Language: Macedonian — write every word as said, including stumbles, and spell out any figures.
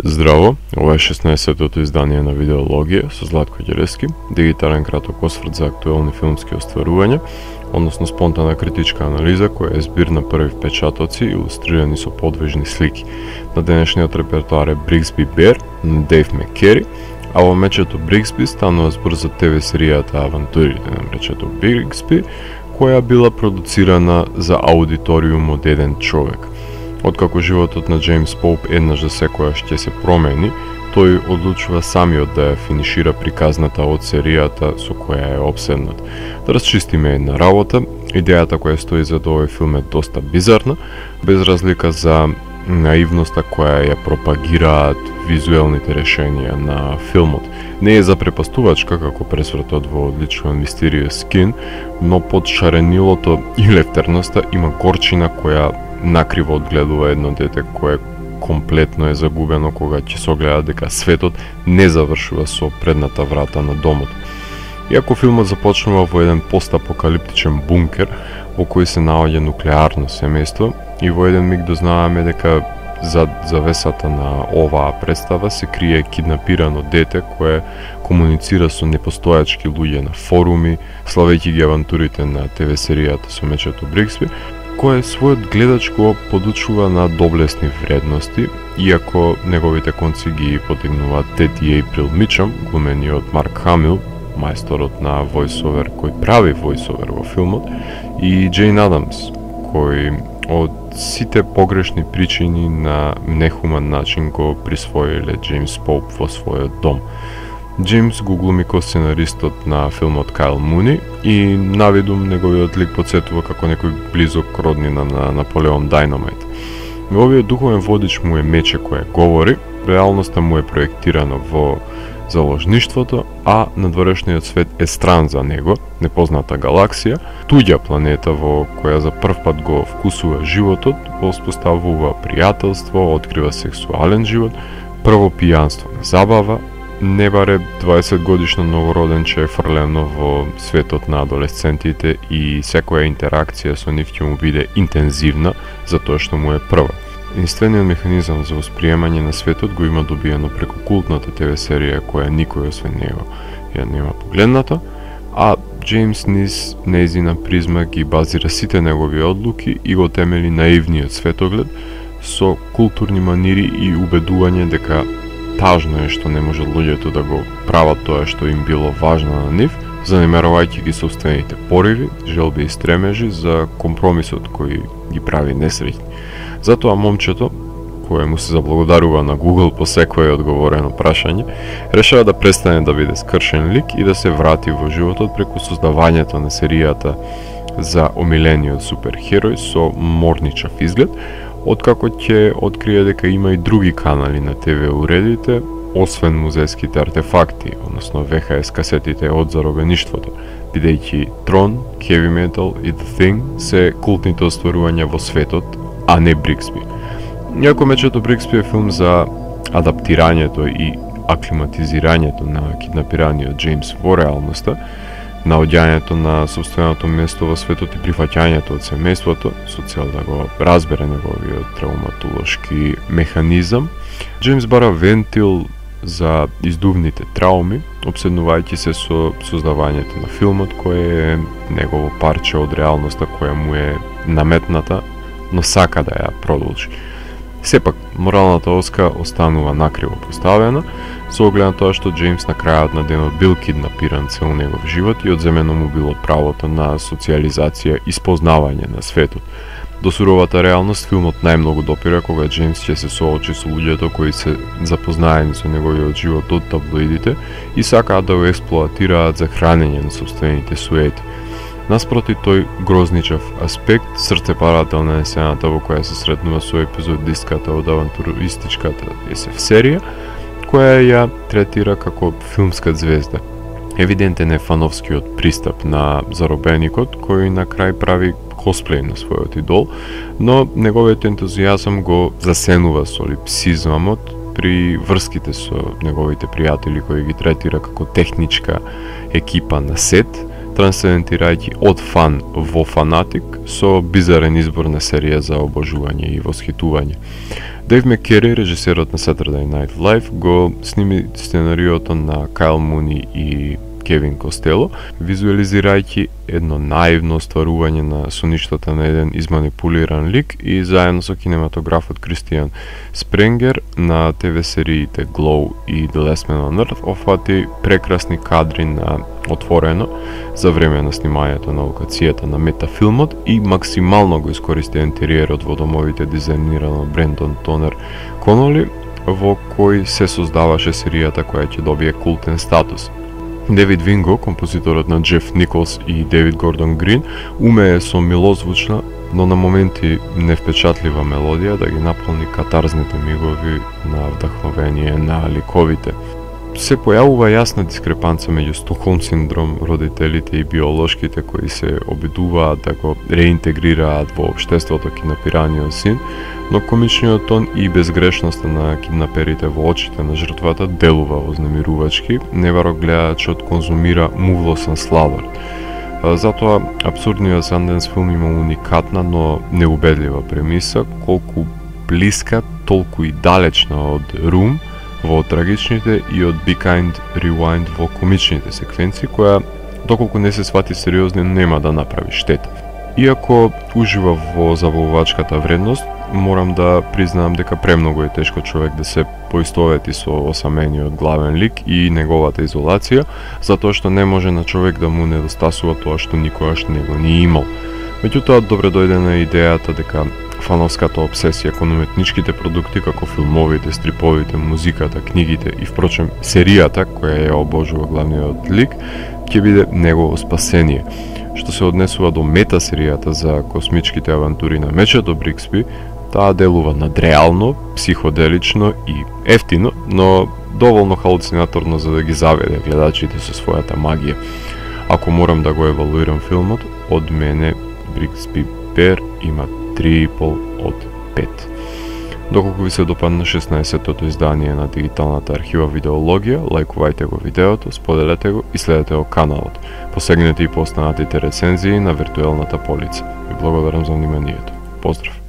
Здраво, ова е шеснаесеттото издание на Видеологија со Златко Ѓелески, дигитален краток осврт за актуелни филмски остварувања, односно спонтана критичка анализа која е збир на први впечатоци илустрирани со подвижни слики. На денешниот репертоар е Бриксби Бер на Дейв Маккери, а во мечето Бриксби станува збор за ТВ серијата Авантурите на мечето Бриксби, која била продуцирана за аудиториум од еден човек. Откако животот на Джеймс Поуп еднаш за секојаш ќе се промени, тој одлучува самиот да ја финишира приказната од серијата со која е обседнат. Да расчистиме една работа, идејата која стои за овој филм е доста бизарна, без разлика за наивноста која ја пропагираат визуелните решенија на филмот. Не е запрепастувачка како пресвртот во одличен Mysterious Skin, но под шаренилото и лефтерноста има горчина која накриво одгледува едно дете кое комплетно е загубено кога ќе согледа дека светот не завршува со предната врата на домот. Иако филмот започнува во еден постапокалиптичен бункер во кој се наоѓа нуклеарно семејство и во еден миг дознаваме дека зад завесата на оваа представа се крие киднапирано дете кое комуницира со непостојачки луѓе на форуми, славејќи ги авантурите на ТВ серијата со мечето Бриксби, кој својот гледач го подучува на доблесни вредности, иако неговите конци ги потегнуваат Тети Ейприл Мичам, глумениот Марк Хамил, мајсторот на војсовер кој прави војсовер во филмот, и Джейн Адамс, кој од сите погрешни причини на нехуман начин го присвоиле Джеймс Поуп во својот дом. Джеймс го глуми ко сценаристот на филмот Кайл Муни и навидум неговиот лик подсетува како некој близок роднина на Наполеон Дайнамайт. Неговиот духовен водич му е мече кое говори, реалноста му е проектирана во заложништвото, а надворешниот свет е стран за него, непозната галаксија, туѓа планета во која за прв пат го вкусува животот, воспоставува пријателство, открива сексуален живот, прво пијанство на забава, не баре дваесет годишно новороденче е фрлено во светот на адолесцентите и секоја интеракција со нив ќе му биде интензивна, затоа што му е прва. Единствениот механизам за восприемање на светот го има добиено преку култната ТВ серија која никој освен него ја нема погледната, а Джеймс низ нејзина призма ги базира сите негови одлуки и го темели наивниот светоглед со културни манири и убедување дека тажно е што не може луѓето да го прават тоа што им било важно на нив, занемарувајќи ги собствените пориви, желби и стремежи за компромисот кој ги прави несреќни. Затоа момчето, кое му се заблагодарува на Google по секое одговорено прашање, решава да престане да биде скршен лик и да се врати во животот преку создавањето на серијата за омилениот суперхерој со морничав изглед, откако ќе открие дека има и други канали на ТВ уредите, освен музејските артефакти, односно В Х С касетите од заробеништвото, бидејќи Трон, Heavy Metal и The Thing се култните остварувања во светот, а не Бриксби. Иако мечето Бриксби е филм за адаптирањето и аклиматизирањето на киднапираниот Джеймс во реалноста, наоѓањето на собственото место во светот и прифаќањето од семејството со цел да го разбере неговиот травматолошки механизам, Джеймс бара вентил за издувните трауми, обседнувајќи се со создавањето на филмот кој е негово парче од реалноста која му е наметната, но сака да ја продолжи. Сепак, моралната оска останува накриво поставена, со оглед на тоа што Джеймс на крајот на денот бил киднапиран цел негов живот и одземено му било правото на социјализација и спознавање на светот. До суровата реалност филмот најмногу допира кога Джеймс ќе се соочи со луѓето кои се запознаени со неговиот живот од таблоидите и сакаат да го експлоатираат за хранење на собствените суети. Наспроти тој грозничав аспект, срцепарателна е сцената во која се сретнува со епизодистката од авантуристичката Ес Еф серија, која ја третира како филмска звезда. Евидентен е фановскиот пристап на заробеникот, кој на крај прави косплей на својот идол, но неговиот ентузијазам го засенува со липсизмот при врските со неговите пријатели кои ги третира како техничка екипа на сет, трансцендентирајќи од фан во фанатик со бизарен избор на серија за обожување и восхитување. Дейв Маккери, режисерот на Saturday Night Live, го сними сценариото на Кайл Муни и Кевин Костело, визуализирајќи едно наивно остварување на соништата на еден изманипулиран лик и заедно со кинематографот Кристијан Спренгер на те ве сериите Glow и The Last Man on Earth офати прекрасни кадри на отворено за време на снимањето на локацијата на метафилмот и максимално го искористи интериерот во домовите дизајнирано од Брендон Тонер Коноли, во кој се создаваше серијата која ќе добие култен статус. Девид Винго, композиторот на Джеф Николс и Девид Гордон Грин, умее со милозвучна, но на моменти невпечатлива мелодија да ги наполни катарзните мигови на вдахновение на ликовите. Се појавува јасна дискрепанца меѓу Стокхолм синдром, родителите и биолошките кои се обидуваат да го реинтегрираат во општеството киднапираниот син, но комичниот тон и безгрешноста на киднаперите во очите на жртвата делува вознемирувачки, неваро гледачот конзумира мувлосен сладор. Затоа абсурдниот Санденс филм има уникатна, но неубедлива премиса, колку блиска, толку и далечна од Рум во трагичните и од Be Kind Rewind во комичните секвенции, која, доколку не се свати сериозно, нема да направи штета. Иако ужива во забавувачката вредност, морам да признаам дека премногу е тешко човек да се поистовети со осамениот главен лик и неговата изолација, затоа што не може на човек да му недостасува тоа што никогаш не го ни имал. Меѓутоа, добре дојде на идејата дека фановската обсесија кон уметничките продукти како филмовите, стриповите, музиката, книгите и впрочем серијата која ја обожува главниот лик ќе биде негово спасение. Што се однесува до мета серијата за космичките авантури на Мечето Брикспи, таа делува надреално, психоделично и ефтино, но доволно халуцинаторно за да ги заведе гледачите со својата магија. Ако морам да го евалуирам филмот, од мене Брикспи Беар има три и пол од пет. Доколку ви се допадна шеснаесеттото издание на дигиталната архива Видеологија, лајкувајте го видеото, споделете го и следете го каналот. Посегнете и по останатите рецензии на виртуелната полица. Ви благодарам за вниманието. Поздрав!